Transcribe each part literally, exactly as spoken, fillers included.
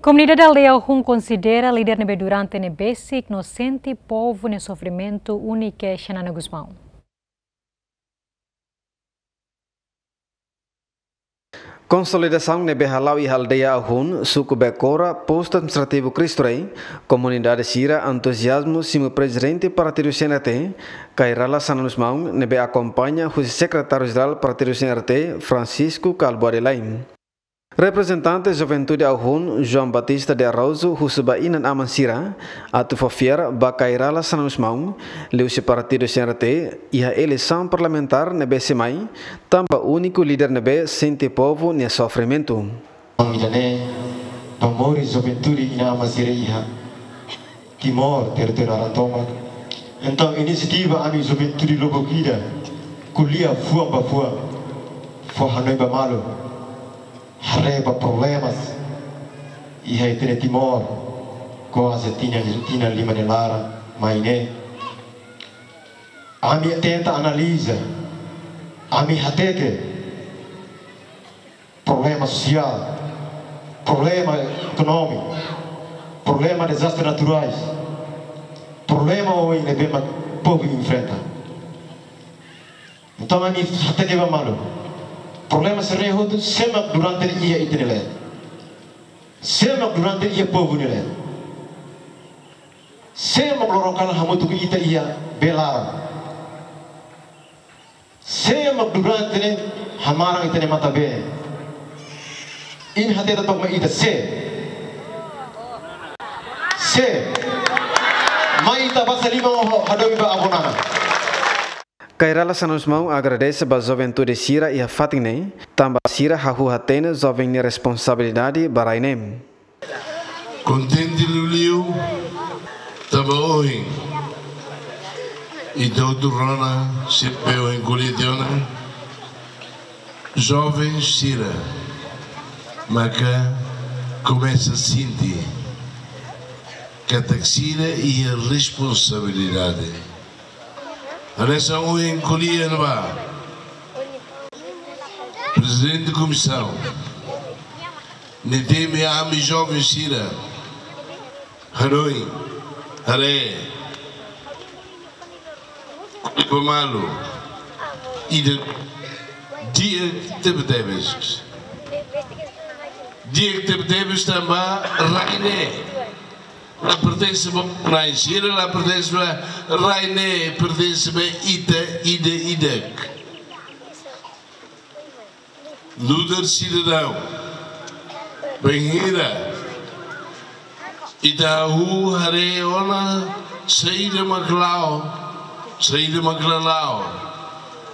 Komunidade aldeia Ahun konsidera líder ne'ebé durante ne'e besik no sente povu nia sofrimentu úniku Xanana Gusmão. Konsolidasaun ne'ebé hala'o iha aldeia Ahun, suku Bekora, postu administrativu Cristo Rei, komunidade sira entuziazmu simu prezidente partidu C N R T, Kay Rala Xanana Gusmão, ne'ebé akompaña husi sekretáriu jerál partidu C N R T, Francisco Kalbuadi Laim. Reprezentante juventude Ahun, João Batista de Araújo, husu ba inan-aman sira atu fó fiar ba Kay Rala Xanana Gusmão, liuhusi partidu C N R T, iha eleisaun parlamentár ne'ebé sei mai, tanba úniku líder ne'ebé sente povu nia sofrimentu. Ida-ne'e ba moris juventude inan-aman sira iha Timor, territóriu naran tomak. Entaun, inisiativa ami juventude lubuk ida, ko'alia fuan ba fuan, fó hanoin ba malu, haree ba problemas iha ita-nia Timor, kuaze tinan, tinan lima nia laran mai ne'e. Ami tenta analiza, ami hatete problema sosiál, problema ekonómiku, problema dezastre naturais, problema oioin ne'ebé mak povu enfrenta. Entaun, ami hatete ba malu, problema sira-ne'e hotu, sé mak durante ne'e iha ita-nia leet? Sé mak durante ne'e iha povu nia leet? Sé mak loron kalan hamutuk ho ita iha bee laran? Sé mak durante ne'e hamaran ita-nia matabeen? Imi hatete took mai ita, sé? Sé? Mai ita basa liman ho hadomi ba avó Nana. Kay Rala Xanana Gusmão agradese ba juventude sira iha fatin ne'e, tanba sira hahú hatene joven nia responsabilidade ba rai ne'e. Kontente liuliu, tanba ohin ita hotu rona, sira be ohin ko'alia tiha ona, joven sira maka komesa sente katak sira iha responsabilidade. Hanesan ohin ko'alia ne'ebá, prezidente komisaun, nia temi ami joven sira, hanoin, haree, ko'alia ba malu, ida di'ak tebetebes. Di'ak tebetebes tanba rai ne'e la pertense ba nain sira, la pertense ba rai ne'e, pertense ba ita ida-idak. Nu'udar sidadaun, bainhira ita hahú haree ona saida mak la'o, saida mak la la'o,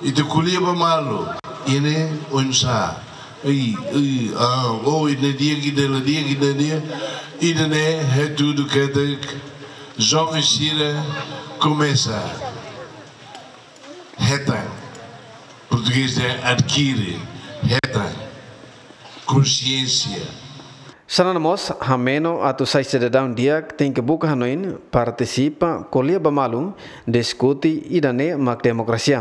ita ko'alia ba malu, ida-ne'e oinsá? Ai, ai, ah, oh, ida-ne'e di'ak, ida-ne'e la di'ak, ida-ne'e di'ak. Ida-ne'e hatudu katak joven sira komesa hetan. Portugés dehan adkire, hetan konsiénsia. Xanana mós hameno atu sai sidadaun di'ak tenke buka hanoin, partisipa, ko'alia ba malu, diskute, ida-ne'e mak demokrasia.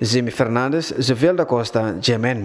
Jimmy Fernandes, Joviel da Costa, G M N.